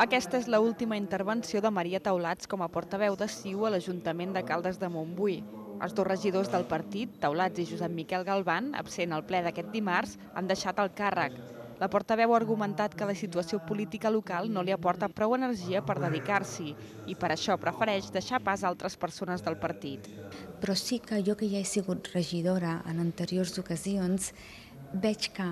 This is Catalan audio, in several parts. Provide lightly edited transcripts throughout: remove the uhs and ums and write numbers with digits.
Aquesta és l'última intervenció de Maria Taulats com a portaveu de CiU a l'Ajuntament de Caldes de Montbui. Els dos regidors del partit, Taulats i Josep Miquel Galván, absent al ple d'aquest dimarts, han deixat el càrrec. La portaveu ha argumentat que la situació política local no li aporta prou energia per dedicar-s'hi i per això prefereix deixar pas a altres persones del partit. Però sí que jo, que ja he sigut regidora en anteriors ocasions, veig que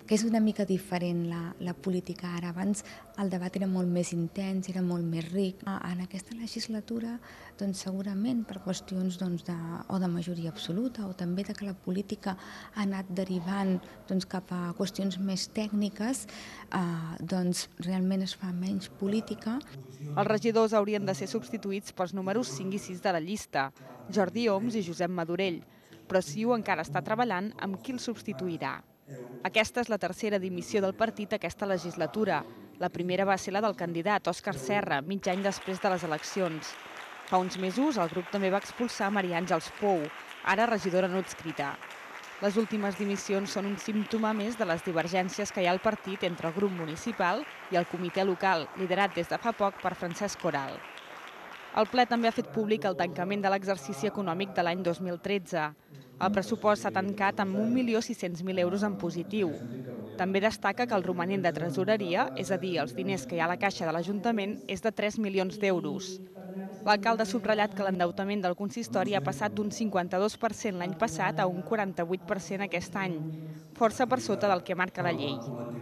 és una mica diferent la política ara. Abans el debat era molt més intens, era molt més ric. En aquesta legislatura, doncs, segurament per qüestions de majoria absoluta o també de que la política ha anat derivant cap a qüestions més tècniques, doncs realment es fa menys política. Els regidors haurien de ser substituïts pels números 5 i 6 de la llista, Jordi Oms i Josep Madurell, però CiU encara està treballant amb qui el substituirà. Aquesta és la tercera dimissió del partit aquesta legislatura. La primera va ser la del candidat Òscar Serra, mig any després de les eleccions. Fa uns mesos el grup també va expulsar Maria Àngels Pou, ara regidora no adscrita. Les últimes dimissions són un símptoma més de les divergències que hi ha al partit entre el grup municipal i el comitè local, liderat des de fa poc per Francesc Coral. El ple també ha fet públic el tancament de l'exercici econòmic de l'any 2013. El pressupost s'ha tancat amb 1.600.000 euros en positiu. També destaca que el romanent de tresoreria, és a dir, els diners que hi ha a la caixa de l'Ajuntament, és de 3 milions d'euros. L'alcalde ha subratllat que l'endeutament del consistori ha passat d'un 52% l'any passat a un 48% aquest any, força per sota del que marca la llei.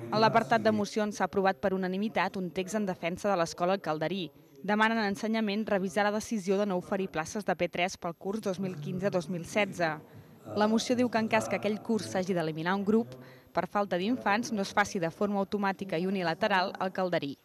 En l'apartat de mocions s'ha aprovat per unanimitat un text en defensa de l'escola al Calderí. Demanen a Ensenyament revisar la decisió de no oferir places de P3 pel curs 2015-2016. La moció diu que en cas que aquell curs s'hagi d'eliminar un grup, per falta d'infants no es faci de forma automàtica i unilateral al Calderí.